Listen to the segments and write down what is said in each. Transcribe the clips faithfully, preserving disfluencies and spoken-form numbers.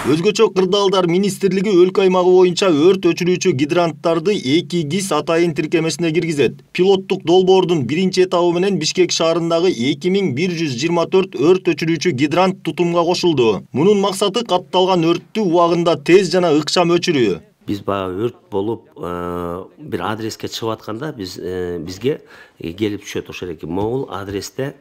Өзгөчө Кырдаалдар министрлиги өлкө аймагы боюнча өрт өчүрүүчү гидранттарды эки ГИС атайын тиркемесине киргизет. Пилоттук долбоордун биринчи этабы менен Бишкек шаарындагы эки миң бир жүз жыйырма төрт өрт өчүрүүчү гидрант тутумга кошулду. Мунун максаты катталган өрттү убагында тез жана ыкчам өчүрүү. Биз баягы өрт болуп бир адреске чыгып атканда биз бизге келип түшөт ошол эки могул адресте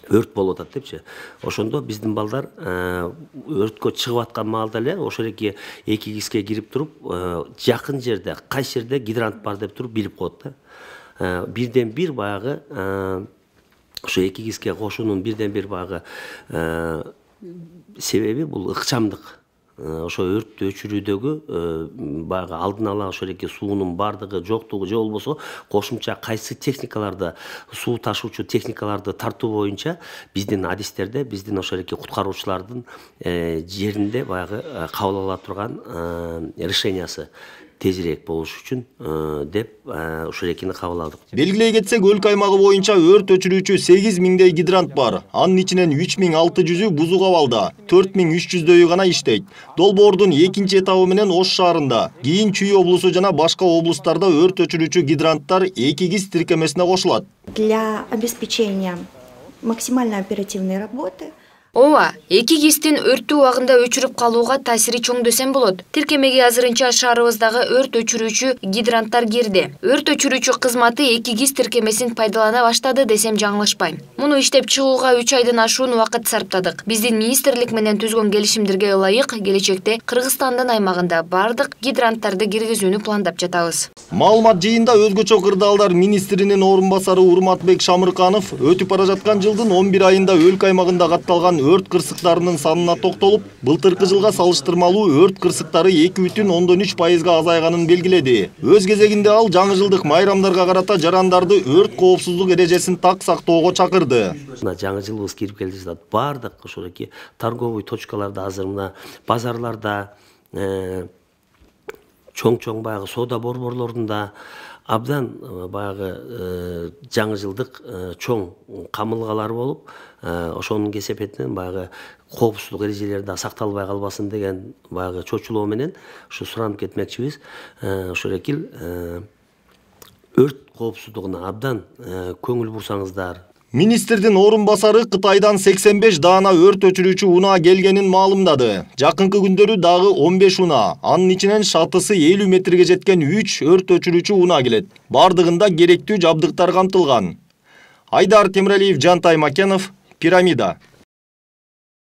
өрт болуп атат депчи. Ошондо биздин балдар өрткө чыгып аткан маалда эле ошол эки эки ГИСке кирип туруп, жакын жерде, кайсы жерде гидрант бар деп туруп билип коет да. Бирден бир баягы ошо эки ГИСке кошуунун бирден бир баягы себеби бул ыкчамдык. Ошо өрттү өчүрүүдөгү баягы алдын ала ошол эки суунун бардыгы жоктугу же болбосо кошумча кайсы техникаларды, суу ташуучу техникаларды тартуу боюнча биздин адистерде, биздин ошол эки куткаруучулардын жеринде баягы кабыл ала турган решениясы тезирээк болуш үчүн деп ошол экини кабыл алдык. Белгилей кетсек, өлкө аймагы боюнча өрт өчүрүүчү сегиз миңдей гидрант бар. Анын ичинен үч миң алты жүзү бузук абалда, төрт миң үч жүздөйү гана иштейт. Долбоордун экинчи этабы менен Ош шаарында, кийин Чүй облусу жана башка облустарда өрт өчүрүүчү гидранттар эки ГИС тиркемесине кошулат. Для обеспечения максимально оперативной работы Ооба, эки ГИСтин өрттү убагында өчүрүп калууга таасири чоң десем болот. Тиркемеге азырынча шаарыбыздагы өрт өчүрүүчү гидранттар кирди. Өрт өчүрүүчү кызматы эки ГИС тиркемесин пайдалана баштады десем жаңылышпайм. Муну иштеп чыгууга үч айдан ашуун убакыт сарптадык. Биздин министрлик менен түзгөн келишимдерге ылайык келечекте Кыргызстандын аймагында бардык гидранттарды киргизүүнү пландап жатабыз. Маалымат жыйында өзгөчө Кырдаалдар министринин орун басары Урматбек Шамырканов өтүп бара жаткан жылдын он бир айында өлкө аймагында катталган өрт кырсыктарынын санына токтолуп, былтыркы жылга салыштырмалуу өрт кырсыктары эки бүтүн ондон үч пайызга азайганын белгиледи. Өз кезегинде ал жаңы жылдык майрамдарга карата жарандарды өрт коопсуздук эрежесин так сактоого чакырды. Жаңы жылыбыз кирип келе жатат. Бардык ошол эки торговый точкаларда, азыр мына базарларда, чоң-чоң баягы соода борборлорунда абдан баягы жаңы жылдык чоң камылгалар болуп, ошонун кесепетинен баягы коопсуздук эрежелери да сакталбай калбасын деген баягы чочулоо менен ушу суранып кетмекчибиз. Ошол эки өрт коопсуздугуна абдан көңүл бурсаңыздар. Министрдин орун басары Кытайдан сексен беш даана өрт өчүрүүчү унаа келгенин маалымдады. Жакынкы күндөрү дагы он беш унаа, анын ичинен шатысы элүү метрге жеткен үч өрт өчүрүүчү унаа келет. Бардыгында керектүү жабдыктар камтылган. Айдар Темиралиев, Жантай Макенов, Пирамида.